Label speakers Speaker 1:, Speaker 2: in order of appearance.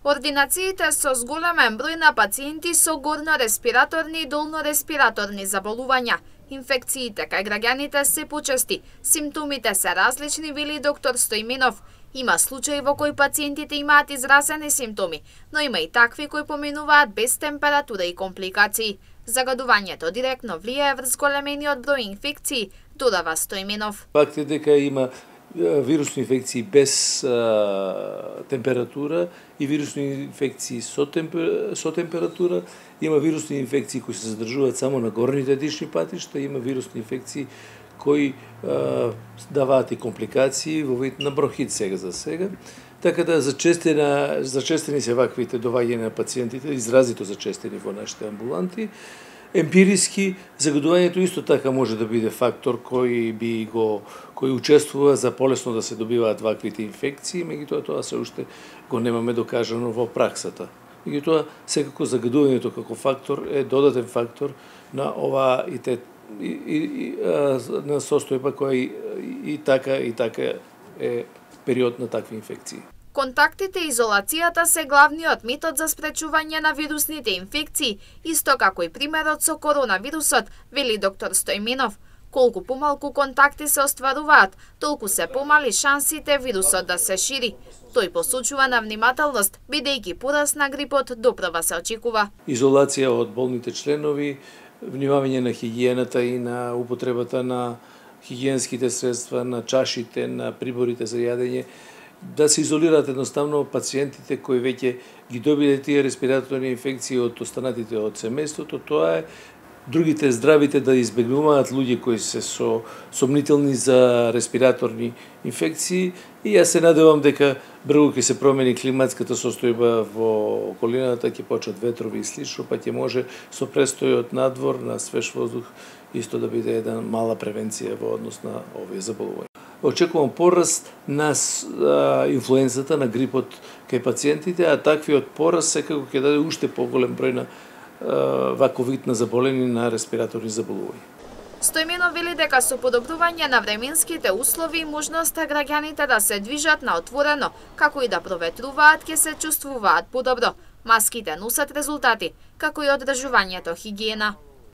Speaker 1: Ординациите со зголемен број на пациенти со горно-респираторни и долно-респираторни заболувања. Инфекциите кај граѓаните се почести, симптомите се различни, вели доктор Стојменов. Има случаи во кои пациентите имаат изразени симптоми, но има и такви кои поминуваат без температура и компликации. Загадувањето директно влијае врз големениот број инфекции, додава Стојменов.
Speaker 2: Факт е дека има вирусни инфекции без температура и вирусни инфекции со температура. Има вирусни инфекции кои се задржуваат само на горните дишни патишта, има вирусни инфекции кои даваат и компликации во вид на бронхит за сега. Така да зачестени се ваквите доаѓања на пациентите, изразито зачестени во нашите амбуланти. Емпириски, загадувањето исто така може да биде фактор кој учествува за полесно да се добиваат ваквите инфекции, меѓутоа тоа се уште го немаме докажано во праксата. Меѓутоа, секако загадувањето како фактор е додатен фактор на оваа на состојба која и така е период на такви инфекции.
Speaker 1: Контактите и изолацијата се главниот метод за спречување на вирусните инфекции, исто како и примерот со коронавирусот, вели доктор Стојменов. Колку помалку контакти се остваруваат, толку се помали шансите вирусот да се шири. Тој посочува на внимателност, бидејќи пораст на грипот допрва се очекува.
Speaker 2: Изолација од болните членови, внимавање на хигиената и на употребата на хигиенските средства, на чашите, на приборите за јадење, да се изолираат едноставно пациентите кои веќе ги добиле тие респираторни инфекции од останатите од семејството. Тоа е другите здравите да избегнуваат луѓе кои се сомнителни за респираторни инфекции, и јас се надевам дека брзо ќе се промени климатската состојба во околината, ќе почнат ветрови и слично, па ќе може со престојот надвор на свеж воздух исто да биде една мала превенција во однос на овие заболувања. Очекувам пораст на инфлуензата, на грипот кај пациентите, а таквиот пораст секако ќе даде уште поголем број на ваков вид на заболени на респираторни заболувања.
Speaker 1: Стојменов вели дека со подобрување на временските услови и можноста граѓаните да се движат на отворено, како и да проветруваат, ќе се чувствуваат подобро. Маските носат резултати, како и одржувањето хигиена.